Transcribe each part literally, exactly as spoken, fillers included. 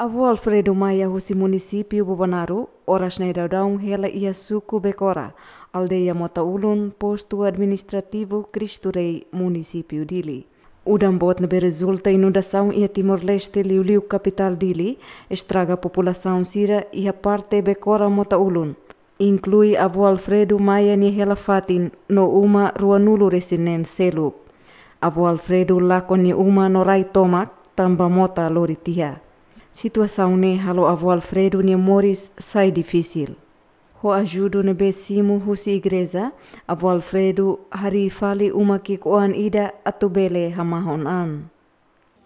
Avó Alfredo Maia husi munisípiu Bobonaro, oras ne'e daudaun hela iha suku Bekora, aldeia Mota Ulun, postu administrativu Cristo Rei, munisípiu Dili. Udan boot ne'ebé rezulta inundasaun iha Timor-Leste, liuliu kapitál Dili, estraga populasaun sira iha parte Bekora Mota Ulun, inklui avó Alfredo Maia nia hela-fatin no uma ruanulu-resin-neen seluk. Avó Alfredo lakon nia uma no rai tomak, tanba mota lori tiha. Situasaun ne'e halo avó Alfredo nia moris sai difisil. Ho ajuda ne'ebé simu husi igreja, avó Alfredo harii fali uma ki'ik-oan ida atu bele hamahon an.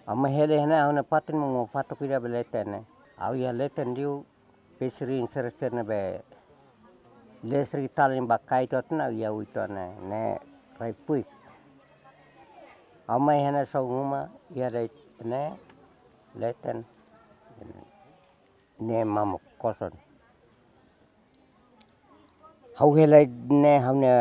Ha'u mai hela iha ne'e, ha'u-nia fatin mak fatuk ida iha leten ne'e. Ha'u iha leten liu, pesirin sira-sira ne'ebé listrik talin ba kaitu tiha ona, iha uitoan ne'e, ne'e rai puik. Ha'u mai iha ne'e, só uma iha de'it ne'e, leten ne'e mamuk kosong. Ha'u hela ne'e, ha'u-nia,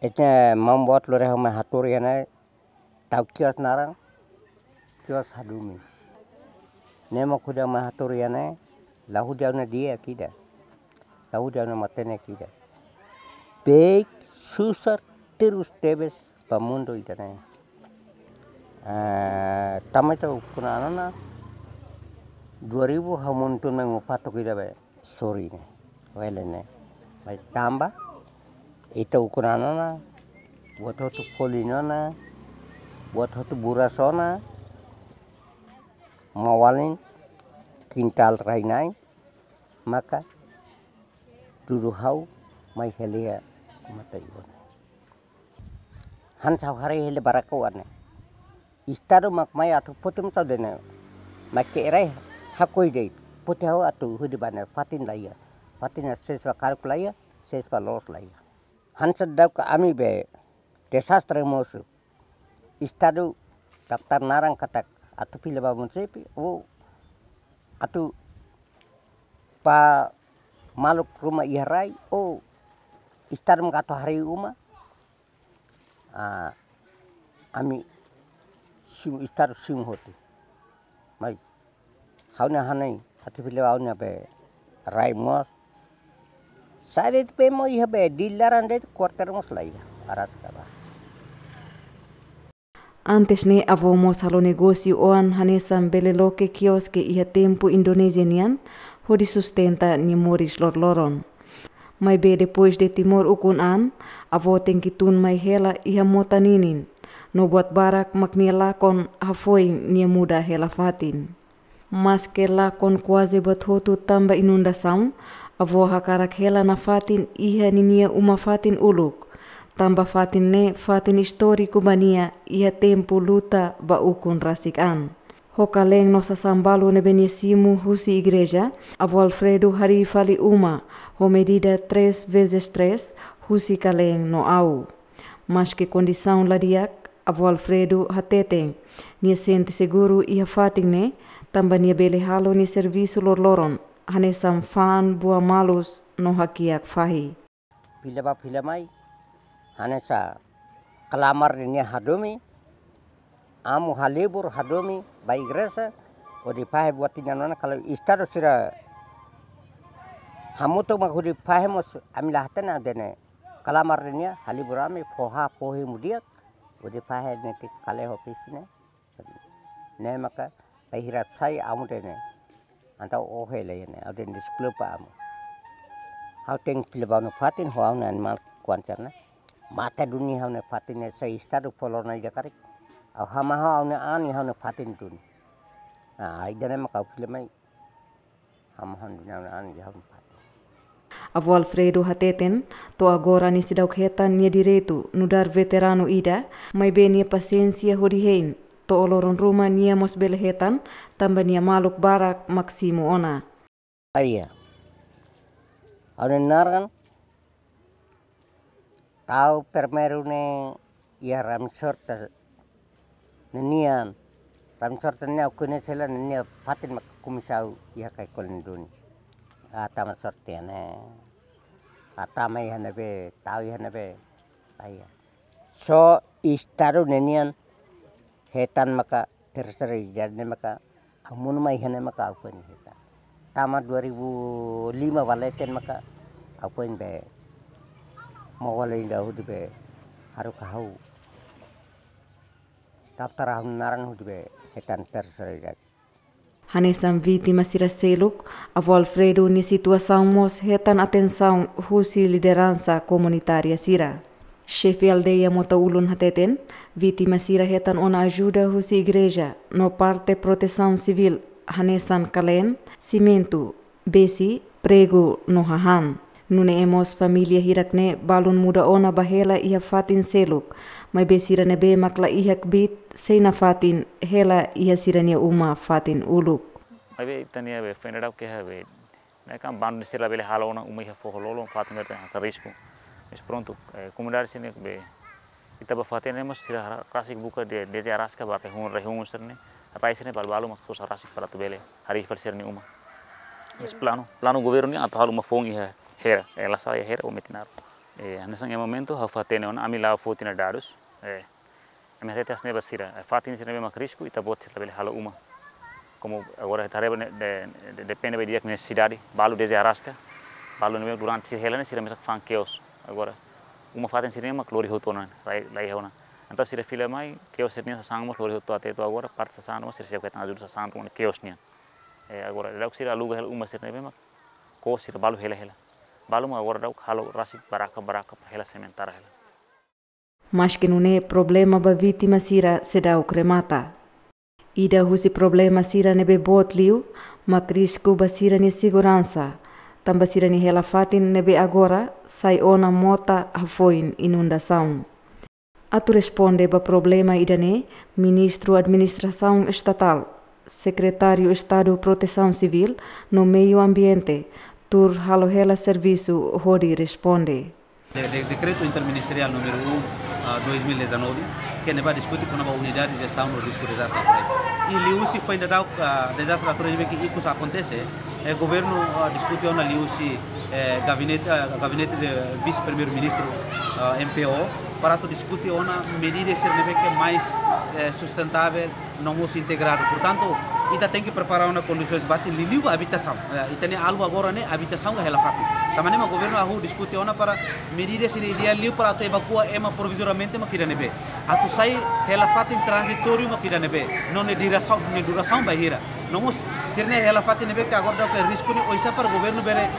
ita mambuat lore ha'u mai haturi iha ne'e, tau kios naran, kios Hadumi. Ne'e mak hodi ha'u mai haturi iha ne'e, la hodi ha'u-nia di'ak ida, la hodi ha'u-nia matenek ida. Beik susar terus tebes ba mundu ida-ne'e. Ah, tama ita ukun an ona, dua ribu ha'u monu tun mai uma fatuk ida be sorin ne'e, wele ne'e. Mai tanba ita ukun an ona, buat hotu folin ona, buat hotu buras ona, maun-alin kintál rai-na'in, maka dudu ha'u mai hela iha mata ibun. Hanesan ha'u haree hela barako ane. Estadu mak mai atu foti mós ha'u dehan ne'e. Mai ke'e rai hakoi de'it. Foti ha'u atu hodi ba ne'e, fatin laiha. Fatin ne'e sees ba karuk laiha, sees ba loos laiha. Hanesan daudaun ami be dezastre mosu. Estadu daftar naran katak atu fila ba munisípiu, ou atu ba maluk ruma iha rai, ou Estadu mak atu harii uma. Ah, ami simu, Estadu simu hotu. Mas ha'u-nia hanoin, atu fila ba ha'u-nia be rai mós. Sai de'it be mós iha be Dili laran de'it, kuartér mós laiha, araska ba. Antes ne'e avó mós halo negósiu oan hanesan bele loke kioske iha tempu Indonézia nian, hodi sustenta nia moris loroloron. Maibé depois de Timor ukun an, avó tenke tun mai hela iha mota ninin, no buat barak mak nia lakon hafoin nia muda hela-fatin. Maske lakon kuaze buat hotu tanba inundasaun, avó hakarak hela nafatin iha ninia uma-fatin uluk. Tanba fatin ne'e fatin istóriku ba nia iha tempu luta ba ukun rasik an. Ho kaleen no sasán balu ne'ebé nia simu husi igreja, avó Alfredo harii fali uma ho medida três vezes três husi kaleen no au. Maske kondisaun la di'ak, avó Alfredo hateten, nia sente seguru iha fatin ne'e, tanba nia bele halo nia servisu loroloron, hanesan fa'an buah malus no hakiak fahi. Fila ba fila mai, hanesan klamar ida-ne'e hadomi, amu halibur hadomi ba igreja, hodi fahe buat ida-ne'e ona, kalau Estadu sira hamutuk mak hodi fahe mós ami la hatene dehan ne'e. Klamar ida-ne'e halibur ami, fó hahán fó hemu di'ak, hodi fahe netik kale ho pisi ne'e. Ne'e maka bainhira sai amu dehan ne'e. Entaun ohe lai ne'e, ha'u dehan deskulpa amu. Ha'u tenke fila ba ha'u-nia fatin, ho ha'u-nia animál kuandu sira-ne'e. Mate duni ha'u-nia fatin ne'e, se Estadu fó lorona ida karik, ha'u hamahon ha'u-nia an iha ha'u-nia fatin duni. Ah, ida-ne'e maka ha'u fila mai. Hamahon duni ha'u-nia an iha ha'u-nia fatin. Avó Alfredo hateten, to'o agora nia seidauk hetan nia direitu nu'udar veteranu ida, maibé nia pasiénsia hodi hein, to'o loron ruma nia mós bele hetan, tanba nia maluk barak mak simu ona. Ai, ha'u-nia naran, ha'u primeiru ne'e iha Ramisorte ninian. Ramisorte ne'e ha'u koñese hela, nia fatin mak komesa ha'u iha Kaikoli nia duni. Ha'u tama sorte ne'e. Ha'u tama iha ne'ebé, tau iha ne'ebé. Ai. Só Estadu ninian hetan maka terseira, jadi ne'e maka Ha'u monu mai iha ne'e maka ha'u foin hetan. Tama dua ribu lima ba leten maka ha'u foin be, mau wale inda hudi be, haruka ha'u daftar ha'u-nia naran hudi be hetan terserai. Hanesan vítima sira seluk, avó Alfredo nia situasaun mós hetan atensaun husi lideransa komunitária sira. Xefe aldeia Mota Ulun hateten, vítima sira hetan ona ajuda husi igreja, no parte protesaun sivíl, hanesan kaleen, simentu, besi, pregu no hahán. Nune'e mós família hirak-ne'e balun muda ona ba hela iha fatin seluk, maibé sira ne'ebé mak la iha kbiit sei nafatin hela iha sira-nia uma fatin uluk. Maibé ita-nia be foin dadauk keha be, ne'e kan bandu ne'e sira labele halo ona uma iha foho lolon, fatin ne'ebé hanesan risku. Mas prontu, eh, komunidade sira-ne'e be, ita ba fatin ne'e mós sira ra-, rasik buka de, dezde araska ba rehun, rehun sira-ne'e, rai sira-ne'e balu-balu mak sosa rasik para atu bele harii fali sira-nia uma. Mas planu, planu governu nian atu halo uma foun iha Hera, eh, la sala iha Hera ou Metinaro. Eh, hanesan iha momentu ha'u fatin ona, ami la foti ona dadus, eh, ami hatete hanesan ne'e ba sira, eh, fatin sira ne'ebé mak risku, ita-boot sira labele halo uma. Komu agora ita haree ba ne'e, de, de, depende ba di'ak nesesidade, balu dezde araska, balu ne'ebé durante sira hela ne'e sira mesak fa'an keos. Agora, uma fatin sira-ne'e mak lori hotu ona, rai, rai ona. Entaun sira fila mai, keos sira-nia sasán mós lori hotu até to'o agora, parte sasán mós sira sei hetan ajuda sasán ruma keos nian. Eh, agora, daudauk sira aluga hela uma sira ne'ebé mak, koo sira balu hela hela. Balu mak agora daudauk halo rasik baraka-baraka para hela sementara hela. Maske nune'e problema ba vítima sira seidauk remata. Ida husi problema sira ne'ebé boot liu, mak risku ba sira-nia seguransa, tanba sira-nia hela fatin ne'ebé agora sai ona mota hafoin inundasaun. Atu responde ba problema ida-ne'e, Ministru Administrasaun Estatál, Sekretáriu Estadu Protesaun Sivíl no Meiu Ambiente, tuur halo hela servisu hodi responde. De, de, Dekretu Interministeriál número um, ah, dois mil e dezanove, ke ne'ebá diskute kona-ba unidade de jestaun do risku dezastre naturais. I liuhusi foin dadauk, ah, dezastre naturais ne'ebé ke ikus akontese, eh, governu, ah, diskute ona liuhusi, eh, gabinete, ah, gabinete de vise-primeiru-ministru, ah, M P O, para atu diskute ona medida sira ne'ebé ke mais, eh, sustentável, no mós integradu. Portantu, ita tenke prepara ona kondisoens ba atu liuliu ba abitasaun. Eh, ita-nia alvu agora ne'e abitasaun ka hela fatin. Tanba ne'e mak governu hahú diskute ona para medida sira ideál liu para atu evakua ema provizoriamente mak ida ne'ebé. Atu sai hela fatin tranzitóriu mak ida ne'ebé. No nia durasaun, nia durasaun bainhira. No mós, sira-nia hela fatin ne'ebé ke agora daudauk risku ne'e oinsá para governu bele,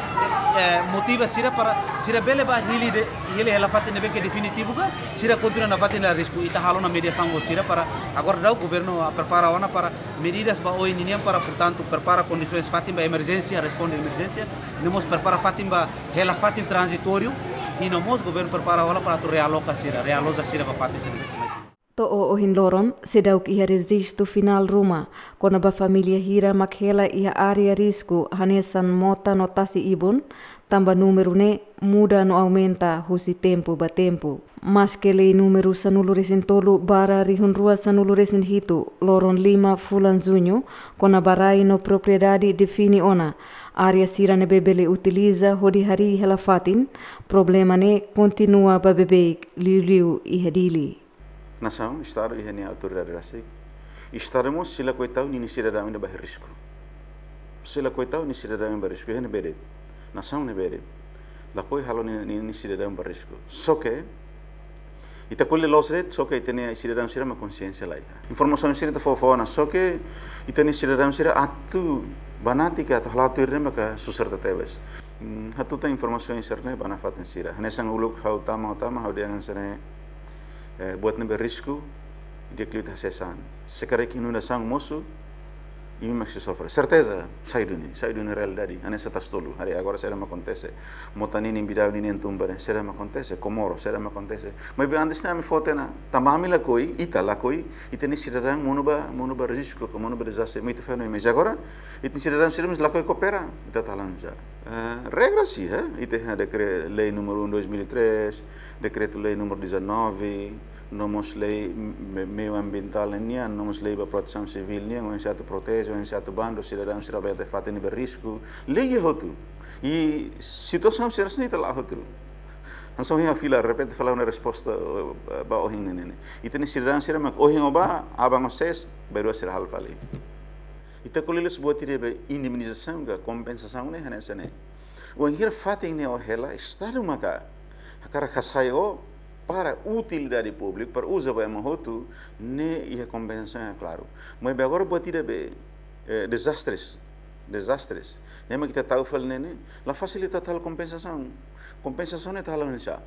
eh, motiva sira para sira bele ba hili de, hili hela fatin ne'ebé ke definitivu ka, sira kontinua nafatin la risku, ita halo ona mediasaun ho sira para agora daudauk governu, ah, prepara ona para medidas ba oin ninian para, portantu, prepara kondisoens fatin ba emerjénsia, responde emerjénsia, no mós prepara fatin ba hela fatin tranzitóriu, i no mós governu prepara ona para atu realoka sira, realoja sira ba fatin sira ne'ebé ke mais. To'o ohin loron, seidauk iha rejistu finál ruma, kona-ba família hira mak hela iha área risku, hanesan mota no tasi-ibun, tanba númeru ne'e muda no aumenta husi tempu ba tempu. Maske lei númeru sanulu-resin-tolu barra rihun rua sanulu-resin-hitu, loron lima fulan Juñu, kona-ba rai no propriedade define ona área sira ne'ebé bele utiliza hodi harii hela fatin, problema ne'e kontinua ba beibeik liuliu iha Dili. Nasaun, Estadu iha nia autoridade rasik. Estadu mós sei lakohi tau ninia sidadaun ida ba risku. Sei lakohi tau ninia sidadaun ba risku, iha ne'ebé de'it. Nasaun ne'ebé de'it. Lakohi halo ninia, ninia sidadaun ba risku. Só ke, ita ko'alia loos de'it, só ke ita-nia sidadaun sira mak konxiénsia la iha. Informasaun sira ita fó-fó ona, só ke ita-nia sidadaun sira atu banati ka atu hala'o tuir ne'e maka susar tebes. Hmm, hatutan informasaun sira-ne'e ba nafatin sira. Hanesan uluk ha'u tama, ha'u tama, ha'u dehan hanesan ne'e, eh, buat ne'ebé risku, di'ak liu ita hasai sasán. Se karik inundasaun mosu, imi mak sei sofre. Serteza, sai duni, sai duni realidade. Hanesan Tasitolu, haree agora saida mak akontese. Mota ninin, Bidau ninin tun ba ne'e, saida mak akontese. Comoro, saida mak akontese. Maibé antes ne'e ami fó tiha ona, tanba ami lakohi, ita lakohi, ita-nia sidadaun monu ba, monu ba risku, ka monu ba dezastre, ita fó ona, mas agora, ita-nia sidadaun sira mós lakohi koopera, ita talan já. Eh, regra sih, eh? Ita iha dekre-, lei número um dois mil e três, dekretu-lei número dezanove, no mós lei me-, meiu ambientál nian, no mós lei ba protesaun sivíl nian, oinsá atu proteje, oinsá atu bandu sidadaun sira ba iha fatin ne'ebé risku. Lei iha hotu. I situasaun sira-ne'e ita la'o hotu. Hanesan ohin ha'u fila, repente fila ona resposta, eh, ba ohin ne'e ne'e. Ita-nia sidadaun sira mak ohin ó bá, aban ó sees, bainrua sira halo fali. Ita ko'alia liu buat ida be indemnizasaun ka kompensasaun ne'e hanesan ne'e. Wainhira fatin ne'e ó hela, Estadu maka hakarak hasai ó para utilidade públika, para uza ba ema hotu, ne'e iha kompensasaun klaru. Maibé agora buat ida be, eh, dezastres, dezastres. Ne'e mak ita tau fali ne'e, ne'e la fasil ita halo kompensasaun. Kompensasaun ne'e ita halo oinsá?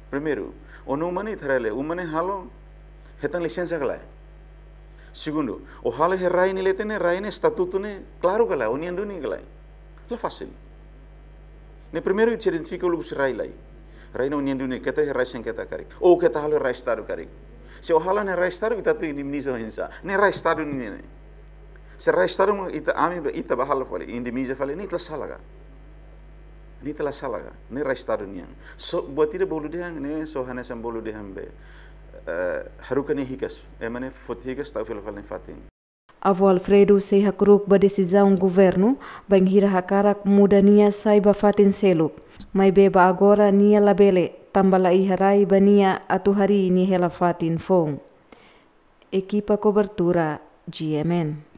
Primeiru, ó-nia uma ne'e ita haree lai, uma ne'e halo hetan lisensa ka lae? Segundu, ó halo iha rai nia leten ne'e, rai nia estatutu ne'e klaru ka lae, ó-nian duni ka lae? La fasil. Ne'e primeiru ita identifika uluk husi rai lai. Rai ne'e ó-nian duni, keta iha rai sengketa karik. Ou keta halo rai Estadu karik. Se ó halo ne'e rai Estadu, ita atu indemniza oinsá? Ne'e rai Estadu nian ne'e. Se rai Estadu mak ita, ami ba, ita ba halo fali, indemniza fali, ne'e ita la sala ka? Ne'e ita la sala ka? Ne'e rai Estadu nian. So, buat ida bolu dehan, ne'e só hanesan bolu dehan be, eh, haruka nia hikas. Ema ne'e foti hikas, tau fila fali nia fatin. Avó Alfredo sei hakru'uk ba desizaun governu, bainhira hakarak muda nia sai ba fatin seluk. Maibé ba agora nia labele, tanba la iha rai ba nia atu harii nia hela fatin foun. Ekipa kobertura, G M N.